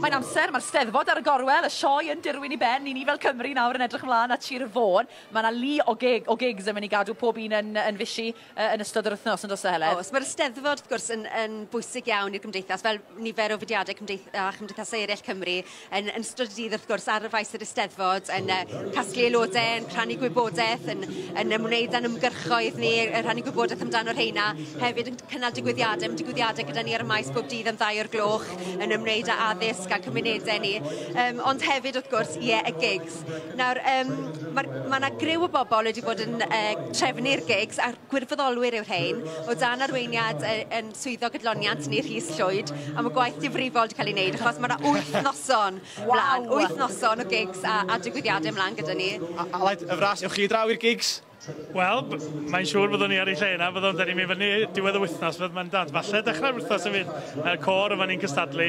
Mae'n amser, mae'r Steddfod ar y gorwel, y sioe yn dirwyn i ben, i ni fel Cymru nawr yn edrych ymlaen at Sir Fôn. Mae yna lu o gigs yn mynd i gadw pob un yn fishi yn ystod yr wythnos, yn does e, Heledd? Oes, mae'r Steddfod, wrth gwrs, yn bwysig iawn i'r gymdeithas, fel nifer o fudiadau a chymdeithasau eraill Cymru, yn ystod y dydd, wrth gwrs, ar y faes yr Eisteddfod, yn casglu aelodau, yn rhannu gwybodaeth, yn ymwneud â'n ymgyrchoedd ni, yn rhannu gwybodaeth amdano'r rheina, hefyd yn cynnal digwyddiadau, mae digwyddiadau gyda ni ar y maes bob dydd am 2 o'r gloch, yn ymwneud â addysg a cymunedau ni, ond hefyd, wrth gwrs, ie, y gigs. Nawr, mae yna griw o bobl wedi bod yn trefnu'r gigs, a'r gwirfoddolwyr yw'r rhain, o dan arweiniad yn swyddog gydloniant ni, Rhys Llwyd, a mae gwaith difrifol wedi cael ei wneud, achos mae yna 8 noson mlaen, 8 noson o gigs a digwyddiadau mlaen gyda ni. Aled, y fras, ewch chi draw i'r gigs? Wel, mae'n siŵr byddwn ni ar ei lle yna, byddwn dyn ni'n mynd fyny diwedd y wythnos, fydd mae'n dant. Falle dechrau'r wythnos hefyd, y côr yma ni'n cystadlu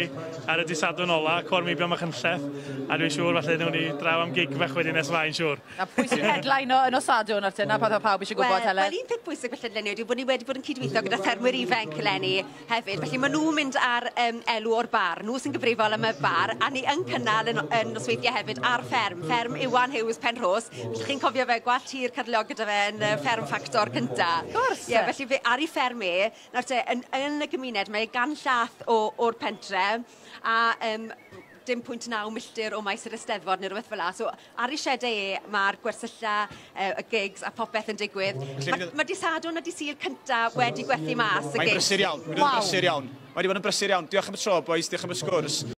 ar y dydd Sadwrn ola, Côr Meibion Machynlleth, a dwi'n siŵr falle newn ni draw am gig fach wedyn nes ymlaen, siŵr. A pwy sy'n headline o yn nos Sadwrn, Artyn? Na peth o pawb eisiau gwybod, Heledd? Wel, un peth bwysig felly eleni yw bod ni wedi bod yn cydweithio gyda ffermwyr ifanc eleni hefyd. Felly maen nhw'n mynd ar elw o'r bar. Nhw sy'n gyfrifol am y bar, a ni yn cynnal yn nosweithiau hefyd ar fferm. Fferm Iwan Hughes Penrhos. Felly chi'n cofio fe, gwallt hir cyrliog gyda fe yn Fferm Ffactor cynta. Gwrs. Ie, felly fe, ar ei fferm e, nawr te, yn y gymuned, mae gan llath o'r pentre, a dim pwynt 9 milltir o maes yr Eisteddfod neu rhywbeth fel 'la. So ar ei siedau e, mae'r gwersylla, y gigs a popeth yn digwydd. Mae dydd Sadwrn a dydd Sul cynta wedi gwerthu mas y Mae'n gigs. brysur iawn, mae'n brysur iawn. Mae wedi bod yn brysur iawn. Diolch am y tro, boys, diolch am y sgwrs.